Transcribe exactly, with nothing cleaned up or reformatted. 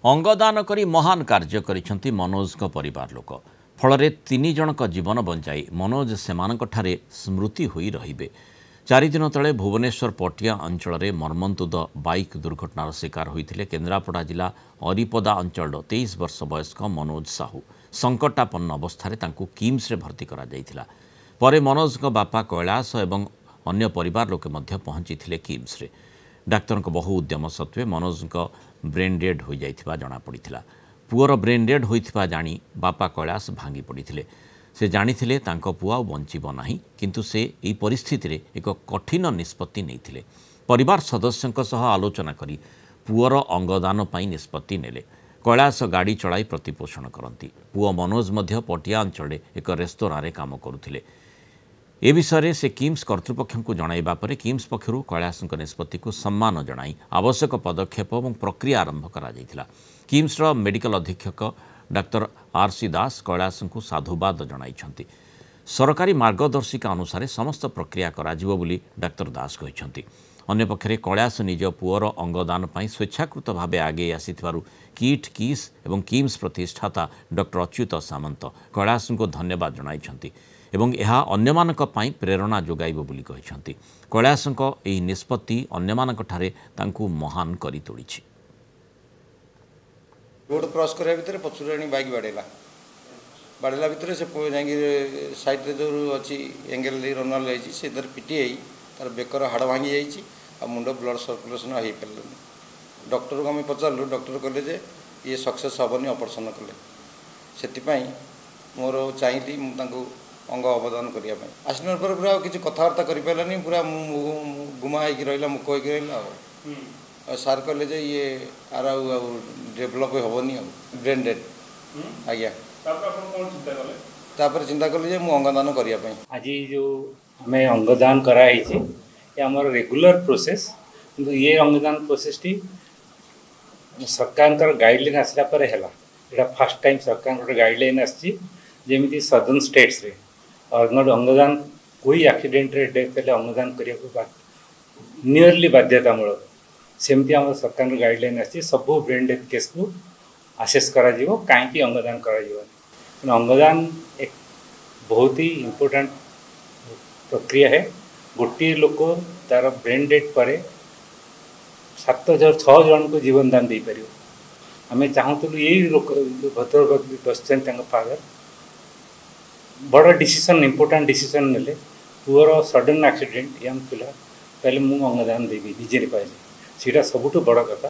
ଅଙ୍ଗଦାନ କରି ମହାନ କାର୍ଯ୍ୟ କରିଛନ୍ତି ମନୋଜଙ୍କ ପରିବାର ଲୋକ। ଫଳରେ ତିନି ଜଣଙ୍କ ଜୀବନ ବଞ୍ଚାଇ ମନୋଜ ସେମାନଙ୍କଠାରେ ସ୍ମୃତି ହୋଇ ରହିବେ। ଚାରିଦିନ ତଳେ ଭୁବନେଶ୍ୱର ପଟିଆ ଅଞ୍ଚଳରେ ମର୍ମନ୍ତୁଦ ବାଇକ୍ ଦୁର୍ଘଟଣାର ଶିକାର ହୋଇଥିଲେ କେନ୍ଦ୍ରାପଡ଼ା ଜିଲ୍ଲା ଅରିପଦା ଅଞ୍ଚଳର ତେଇଶ ବର୍ଷ ବୟସ୍କ ମନୋଜ ସାହୁ। ସଙ୍କଟାପନ୍ନ ଅବସ୍ଥାରେ ତାଙ୍କୁ କିମ୍ସରେ ଭର୍ତ୍ତି କରାଯାଇଥିଲା। ପରେ ମନୋଜଙ୍କ ବାପା କୈଳାସ ଏବଂ ଅନ୍ୟ ପରିବାର ଲୋକେ ମଧ୍ୟ ପହଞ୍ଚିଥିଲେ କିମ୍ସରେ। ଡାକ୍ତରଙ୍କ ବହୁ ଉଦ୍ୟମ ସତ୍ତ୍ୱେ ମନୋଜଙ୍କ ବ୍ରେନ୍ ଡେଡ୍ ହୋଇଯାଇଥିବା ଜଣାପଡ଼ିଥିଲା। ପୁଅର ବ୍ରେନ୍ ଡେଡ୍ ହୋଇଥିବା ଜାଣି ବାପା କୈଳାସ ଭାଙ୍ଗି ପଡ଼ିଥିଲେ। ସେ ଜାଣିଥିଲେ ତାଙ୍କ ପୁଅ ଆଉ ବଞ୍ଚିବ ନାହିଁ, କିନ୍ତୁ ସେ ଏହି ପରିସ୍ଥିତିରେ ଏକ କଠିନ ନିଷ୍ପତ୍ତି ନେଇଥିଲେ। ପରିବାର ସଦସ୍ୟଙ୍କ ସହ ଆଲୋଚନା କରି ପୁଅର ଅଙ୍ଗଦାନ ପାଇଁ ନିଷ୍ପତ୍ତି ନେଲେ। କୈଳାସ ଗାଡ଼ି ଚଳାଇ ପ୍ରତିପୋଷଣ କରନ୍ତି। ପୁଅ ମନୋଜ ମଧ୍ୟ ପଟିଆ ଅଞ୍ଚଳରେ ଏକ ରେସ୍ତୋରାଁରେ କାମ କରୁଥିଲେ। ଏ ବିଷୟରେ ସେ କିମ୍ସ କର୍ତ୍ତୃପକ୍ଷଙ୍କୁ ଜଣାଇବା ପରେ କିମ୍ସ ପକ୍ଷରୁ କୈଳାସଙ୍କ ନିଷ୍ପତ୍ତିକୁ ସମ୍ମାନ ଜଣାଇ ଆବଶ୍ୟକ ପଦକ୍ଷେପ ଏବଂ ପ୍ରକ୍ରିୟା ଆରମ୍ଭ କରାଯାଇଥିଲା। କିମ୍ସର ମେଡିକାଲ ଅଧୀକ୍ଷକ ଡାକ୍ତର ଆର୍ ସି ଦାସ କୈଳାସଙ୍କୁ ସାଧୁବାଦ ଜଣାଇଛନ୍ତି। ସରକାରୀ ମାର୍ଗଦର୍ଶିକା ଅନୁସାରେ ସମସ୍ତ ପ୍ରକ୍ରିୟା କରାଯିବ ବୋଲି ଡାକ୍ତର ଦାସ କହିଛନ୍ତି। ଅନ୍ୟପକ୍ଷରେ କୈଳାସ ନିଜ ପୁଅର ଅଙ୍ଗଦାନ ପାଇଁ ସ୍ୱେଚ୍ଛାକୃତ ଭାବେ ଆଗେଇ ଆସିଥିବାରୁ କିଟ୍, କିସ୍ ଏବଂ କିମ୍ସ ପ୍ରତିଷ୍ଠାତା ଡକ୍ଟର ଅଚ୍ୟୁତ ସାମନ୍ତ କୈଳାସଙ୍କୁ ଧନ୍ୟବାଦ ଜଣାଇଛନ୍ତି ଏବଂ ଏହା ଅନ୍ୟମାନଙ୍କ ପାଇଁ ପ୍ରେରଣା ଯୋଗାଇବ ବୋଲି କହିଛନ୍ତି। କୈଳାସଙ୍କ ଏହି ନିଷ୍ପତ୍ତି ଅନ୍ୟମାନଙ୍କଠାରେ ତାଙ୍କୁ ମହାନ କରି ତୋଳିଛି। ରୋଡ଼ କ୍ରସ୍ କରିବା ଭିତରେ ପଛରୁ ଆଣି ବାଇକ୍ ବାଡ଼େଇଲା। ବାଡ଼େଇଲା ଭିତରେ ସେ ଯାଇକି ସାଇଡ଼୍ରେ ଯେଉଁ ଅଛି ଏଙ୍ଗେଲ ଦେଇ ରନର୍ ଯାଇଛି, ସେଥିରେ ପିଟି ହେଇ ତାର ବେକର ହାଡ଼ ଭାଙ୍ଗି ଯାଇଛି ଆଉ ମୁଣ୍ଡ ବ୍ଲଡ଼ ସର୍କୁଲେସନ୍ ହେଇପାରିଲାନି। ଡକ୍ଟରକୁ ଆମେ ପଚାରିଲୁ, ଡକ୍ଟର କହିଲେ ଯେ ଇଏ ସକ୍ସେସ୍ ହେବନି ଅପରେସନ୍ କଲେ। ସେଥିପାଇଁ ମୋର ଚାହିଁଲି ମୁଁ ତାଙ୍କୁ ଅଙ୍ଗ ଅବଦାନ କରିବା ପାଇଁ। ଆସିଲା ପରେ ପୁରା ଆଉ କିଛି କଥାବାର୍ତ୍ତା କରିପାରିଲାନି, ପୁରା ଗୁମା ହେଇକି ରହିଲା, ମୁକ ହେଇକି ରହିଲା। ଆଉ ଆଉ ସାର୍ କହିଲେ ଯେ ଇଏ ଆର ଆଉ ଆଉ ଡେଭଲପ୍ ହେବନି, ଆଉ ବ୍ରେନ୍ ଡେଡ୍। ଆଜ୍ଞା, ତାପରେ ଚିନ୍ତା କଲି ଯେ ମୁଁ ଅଙ୍ଗଦାନ କରିବା ପାଇଁ। ଆଜି ଯେଉଁ ଆମେ ଅଙ୍ଗଦାନ କରାହେଇଛି ଏ ଆମର ରେଗୁଲାର ପ୍ରୋସେସ୍, କିନ୍ତୁ ଇଏ ଅଙ୍ଗଦାନ ପ୍ରୋସେସ୍ଟି ସରକାରଙ୍କର ଗାଇଡ଼ଲାଇନ୍ ଆସିଲା ପରେ ହେଲା। ଏଇଟା ଫାର୍ଷ୍ଟ ଟାଇମ୍ ସରକାରଙ୍କର ଗୋଟେ ଗାଇଡ଼ଲାଇନ୍ ଆସିଛି, ଯେମିତି ସଦର୍ନ ଷ୍ଟେଟ୍ସରେ ଅଙ୍ଗଦାନ କୋଇ ଆକ୍ସିଡେଣ୍ଟରେ ଡେଥ୍ ହେଲେ ଅଙ୍ଗଦାନ କରିବାକୁ ନିୟରଲି ବାଧ୍ୟତାମୂଳକ, ସେମିତି ଆମର ସରକାରଙ୍କ ଗାଇଡ଼ଲାଇନ୍ ଆସିଛି। ସବୁ ବ୍ରେନ୍ ଡେଥ୍ କେସ୍କୁ ଆସେସ୍ କରାଯିବ, କାହିଁକି ଅଙ୍ଗଦାନ କରାଯିବନି। ତେଣୁ ଅଙ୍ଗଦାନ ଏକ ବହୁତ ହି ଇମ୍ପୋର୍ଟାଣ୍ଟ ପ୍ରକ୍ରିୟା ହେ। ଗୋଟିଏ ଲୋକ ତାର ବ୍ରେନ୍ ଡେଥ୍ ପରେ ସାତ ଛଅ ଜଣଙ୍କୁ ଜୀବନ ଦାନ ଦେଇପାରିବ। ଆମେ ଚାହୁଁଥିଲୁ ଏଇ ଲୋକ ଭଦ୍ରକ ବସିଛନ୍ତି, ତାଙ୍କ ଫାଦର ବଡ଼ ଡିସିସନ୍, ଇମ୍ପୋର୍ଟାଣ୍ଟ ଡିସିସନ୍ ନେଲେ। ପୁଅର ସଡନ୍ ଆକ୍ସିଡେଣ୍ଟ, ୟଙ୍ଗ ପିଲା, କହିଲେ ମୁଁ ଅଙ୍ଗଦାନ ଦେବି, ନିଜେ ପାଇଲି। ସେଇଟା ସବୁଠୁ ବଡ଼ କଥା।